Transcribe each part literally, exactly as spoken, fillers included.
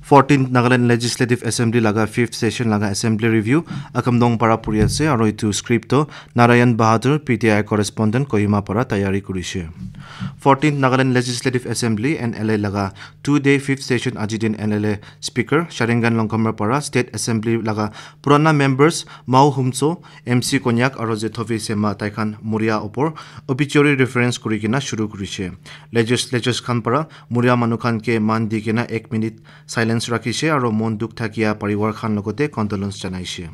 Fourteenth Nagaland Legislative Assembly laga fifth session laga assembly review Akamdong para puri ase, aro itu script to Narayan Bahadur, P T I correspondent, Kohima para tayari kurishe. Fourteenth Nagaland Legislative Assembly, N L A, laga two day fifth session aji din N L A Speaker Sharingan Longkhamer para State Assembly laga purana members Mao Humso, M C Konyak aro Zethovi Sema taikhan muria opor obituary reference kuri kena shuru kurishe. Legislators khan para muria manu khan ke man di kena ek minute silence rakhishe aro mon dukh thakia parivar khan logote condolence janaishe.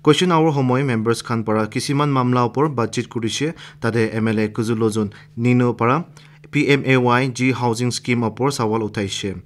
Question hour homoy members khan para kisiman mamla opor batchit kurishe, tate M L A Kuzulozun Nino para P M A Y G housing scheme opor sawal uthaishe.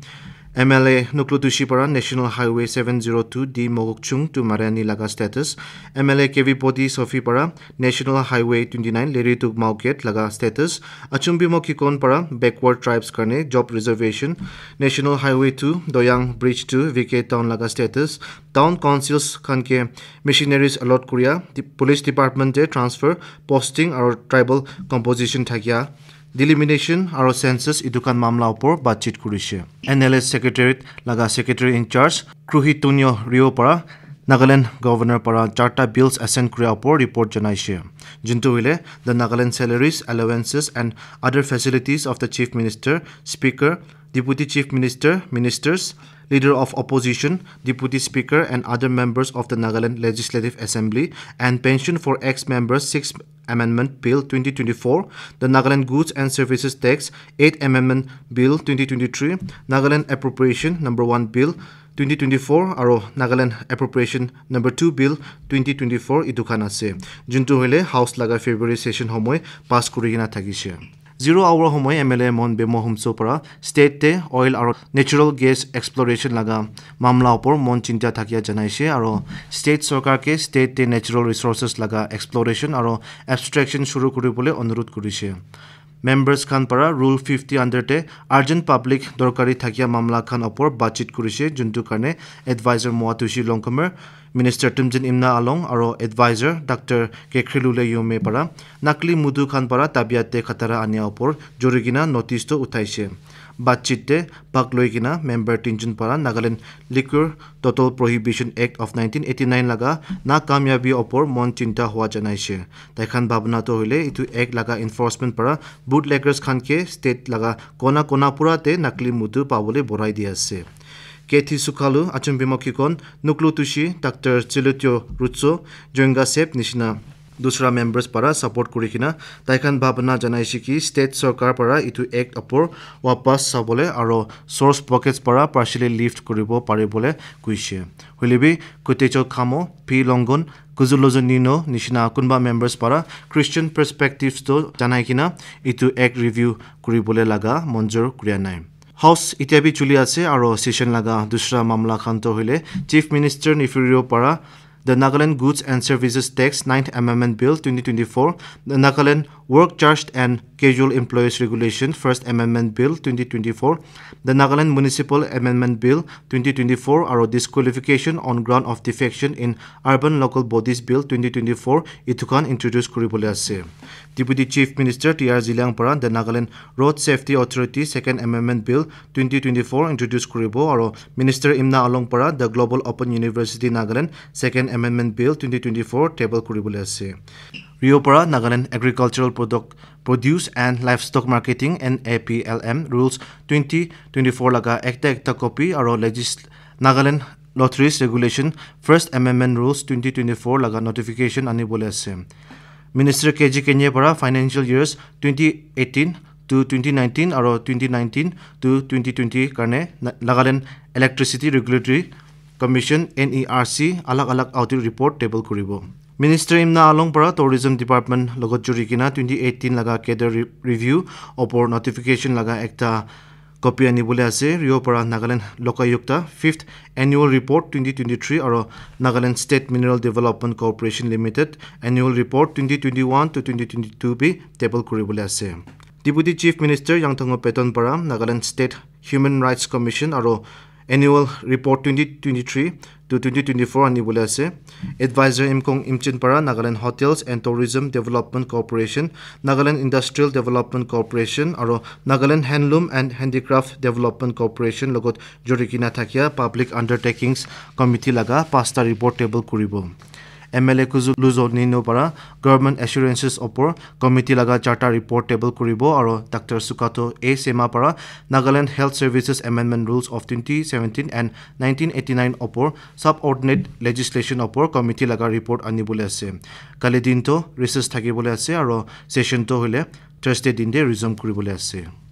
M L A Nuklutushi para National Highway seven zero two D Mogokchung to Mariani laga status, M L A K V Poti Sofi para National Highway twenty-nine Lerituk Mauket laga status, Achumbimo Kikon para backward tribes karne job reservation, National Highway two Doyang Bridge to V K Town laga status, town councils khan ke missionaries allot kuria, di-, police department te transfer, posting aro tribal composition thakia, delimitation aro census itu khan mamla opor batchit kurishe. N L S Secretariat laga Secretary in Charge Kruhi Tunyo Rio para Nagaland Governor para charta bills assent kuria opor report janaishe. Juntu hoile the Nagaland salaries, allowances and other facilities of the Chief Minister, Speaker, Deputy Chief Minister, Ministers, Leader of Opposition, Deputy Speaker and other members of the Nagaland Legislative Assembly and pension for ex-members six Amendment Bill twenty twenty-four, the Nagaland Goods and Services Tax eighth Amendment Bill twenty twenty-three, Nagaland Appropriation Number one Bill twenty twenty-four, aro Nagaland Appropriation Number two Bill twenty twenty-four itu khan ase. Juntu hoile House laga February session homoy pass kuri kena thakishe. Zero hour homoy M L A Mon Bemo Humso para state te oil aro natural gas exploration laga mamla opor mon chinta thakia janaishe aro state sorkar ke state te natural resources laga exploration aro abstraction shuru kuri bole onurudh kurishe. Members khan para Rule fifty under te urgent public dorkari thakia mamla khan opor batchit kurishe, juntu karne advisor Moatushi Longkhamer, Minister Tumjin Imna Along aro advisor Doctor Kekhrelule Yome para nakli mudu khan para tabiat te khatara ania opor jori kena notice to uthaishe. Batchit te bhag loi kena member tinjun para Nagaland Liquor Total Prohibition Act of nineteen eighty-nine laga na kamyabi opor mon chinta hua janaishe. Taikhan bhabna to hoile itu act laga enforcement para bootleggers khan ke state laga kona kona pura te nakli mudu pabole borai di ase. Kethi Sukhalu, Achumbimo Kikon, Nuklu Tushi, Doctor Chilutyo Rutso, Joinga Sep nishina dusra members para support kuri kena taikhan bhabna janaishe ki state sorkar para itu act opor wapas sabole aro source pockets para partially lift kuribo paribole kuishe. Hoilebi Kutecho Khamo, P Longon, Kuzulozun Nino nishina kunba members para Christian perspectives to janai kena itu act review kuribole laga monjur kuria nai. House itya bi chuli ase aro session laga dusra mamla khan to hoile Chief Minister Neiphiu Rio para the Nagaland Goods and Services Tax ninth Amendment Bill twenty twenty-four, the Nagaland Work Charged and Casual Employees Regulation First Amendment Bill twenty twenty-four, the Nagaland Municipal Amendment Bill twenty twenty-four aro Disqualification on Ground of Defection in Urban Local Bodies Bill twenty twenty-four itu khan introduce kuribole ase. Deputy Chief Minister T R Zeliang para the Nagaland Road Safety Authority Second Amendment Bill twenty twenty-four introduce kuribo aro Minister Imna Along para the Global Open University Nagaland Second Amendment Bill twenty twenty-four table kuribole ase. Rio para Nagaland Agricultural Product Produce and Livestock Marketing, N A P L M, Rules twenty twenty-four laga ekta ekta copy aro Legis-, Nagaland Lotteries Regulation First Amendment Rules twenty twenty-four laga notification anibole ase. Minister K G Kenye para financial years twenty eighteen to twenty nineteen aro twenty nineteen to twenty twenty karne Na-, Nagaland Electricity Regulatory Commission, N E R C, alag alag audit report table kuribo. Minister Imna Along para Tourism Department logot juri kena twenty eighteen laga cadre re-, review opor notification laga ekta copy anibole ase. Rio para Nagaland Lokayukta fifth Annual Report twenty twenty-three aro Nagaland State Mineral Development Corporation Limited Annual Report twenty twenty-one to twenty twenty-two bi table kuribole ase. Deputy Chief Minister Yangthango Peton para Nagaland State Human Rights Commission aro Annual Report twenty twenty-three to twenty twenty-four anibole ase. Advisor Imkong Imchin para Nagaland Hotels and Tourism Development Corporation, Nagaland Industrial Development Corporation aro Nagaland Handloom and Handicraft Development Corporation logot jori kena thakia Public Undertakings Committee laga pasta report table kuribo. M L A Kuzu Luzo Nino para Government Assurances opor committee laga charta report table kuribo aro Doctor Sukato A Sema para Nagaland Health Services Amendment Rules of twenty seventeen and nineteen eighty-nine opor subordinate legislation opor committee laga report anibole ase. Kali din to recess thakibole ase aro session to hoile Thursday din de resume kuribole ase.